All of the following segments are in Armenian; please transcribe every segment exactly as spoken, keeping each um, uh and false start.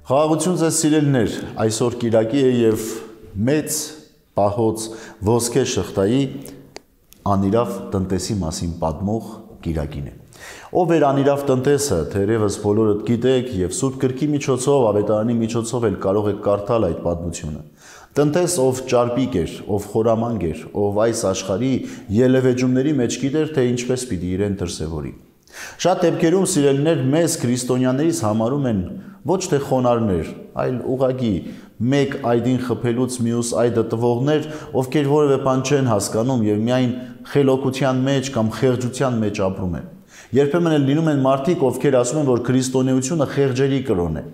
Խաղաղություն ձեզ սիրելիներ, այսօր կիրակի է և մեծ պահոց ոսկե շղթայի անիրավ տնտեսի մասին պատմող կիրակին է։ Ով էր անիրավ տնտեսը, թերևս բոլորդ գիտեք և Սուրբ Գրքի միջոցով, ավետարանի միջոցով էլ կարող եք կարդալ այդ պատմությունը։ Տնտես, ով ճարպիկ էր, ով խորամանկ էր, ով այս աշխարհի ելևէջումների մեջ գիտեր, թե ինչպես պիտի իրեն դրսևորի։ Շատ դեպքերում սիրելիներ մեզ քրիստոնյաներից համարում են ոչ թե խոնարհներ, այլ ուղղակի մեկ այդին խփելուց մյուս այդը տվողներ, ովքեր որևէ բան չեն հասկանում և միայն խելոքության մեջ կամ խեղճության մեջ ապրում են։ Երբեմն էլ լինում են մարդիկ, ովքեր ասում են, որ քրիստոնեությունը խեղճերի կրոն է։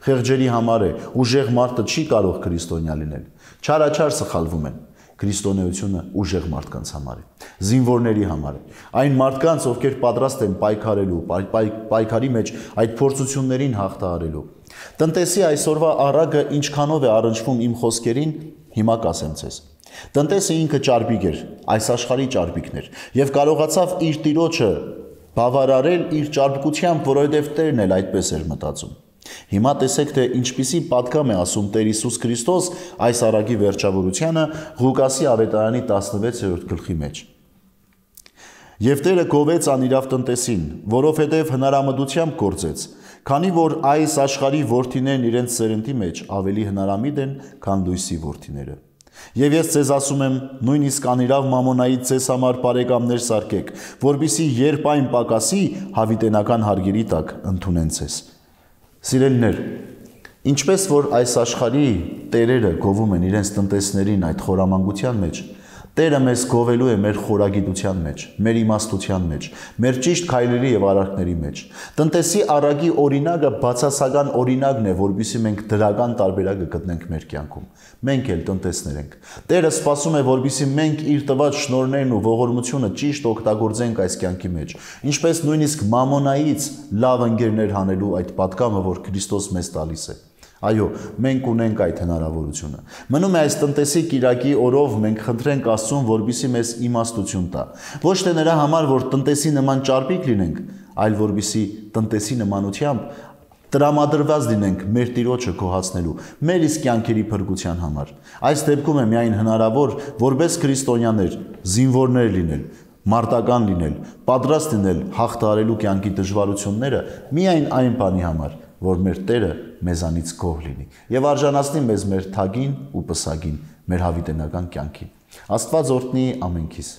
Խեղճերի համար է, ուժեղ մարդը չի կարող քրիստոնյա լինել։ Չարաչար սխալվում են։ Քրիստոնեությունը ուժեղ մարդկանց համար է, զինվորների համար է, այն մարդկանց, ովքեր պատրաստ են պայքարելու, պայքարի մեջ այդ փորձություններին հաղթահարելու։ Տնտեսի այսօրվա առագը ինչքանով է առնչվում իմ խոսքերին, հիմա կասեմ ձեզ։ Տնտեսը ինքը ճարպիկ էր, այս աշխարհի ճարպիկն էր, և կարողացավ իր տիրոջը բավարարել իր ճարպկությամբ, որովհետև Տերն էլ այդպես էր մտածում։ Հիմա տեսեք, թե ինչպիսի պատգամ է ասում Տեր Հիսուս Քրիստոս այս առակի վերջավորությանը Ղուկասի ավետարանի տասնվեցերորդ գլխի մեջ։ Եվ Տերը գովեց անիրավ տնտեսին, որովհետև հնարամտությամբ գործեց, քանի որ այս աշխարհի որդիներն իրենց սերնդի մեջ ավելի հնարամիտ են, քան լույսի որդիները։ Եվ ես ձեզ ասում եմ, նույնիսկ անիրավ մամոնայից ձեզ համար բարեկամներ սարքեք, որպեսզի երբ այն պակասի, հավիտենական հարգերի տակ ընդունեն ձեզ։ Սիրելիներ, ինչպես որ այս աշխարհի տերերը գովում են իրենց տնտեսներին այդ խորամանկության մեջ, Տերը մեզ գովելու է մեր խորագիտության մեջ, մեր իմաստության մեջ, մեր ճիշտ քայլերի և արարքների մեջ։ Տնտեսի առակի օրինակը բացասական օրինակն է, որպեսզի մենք դրական տարբերակը գտնենք մեր կյանքում։ Մենք էլ տնտեսներ ենք։ Տերը սպասում է, որպեսզի մենք իր տված շնորհներն ու ողորմությունը ճիշտ օգտագործենք այս կյանքի մեջ, ինչպես նույնիսկ մամոնայից լավ ընկերներ հանելու այդ պատգամը, որ Քրիստոս մեզ տալիս է։ Այո, մենք ունենք այդ հնարավորությունը։ Մնում է այս տնտեսի կիրակի օրով մենք խնդրենք Աստծուն, որպեսզի մեզ իմաստություն տա։ Ոչ թե նրա համար, որ տնտեսի նման ճարպիկ լինենք, այլ որպեսզի տնտեսի նմանությամբ տրամադրված լինենք մեր Տիրոջը գոհացնելու, մեր իսկ կյանքերի փրկության համար։ Այս դեպքում է միայն հնարավոր, որպես քրիստոնյաներ, զինվորներ լինել, մարտական լինել, պատրաստ լինել հաղթահարելու կյանքի դժվարությունները միայն այն բանի համար, որ մեր Տերը մեզանից գոհ լինի և արժանացնի մեզ մեր թագին ու պսակին, մեր հավիտենական կյանքին։ Աստված օրհնի ամենքիս։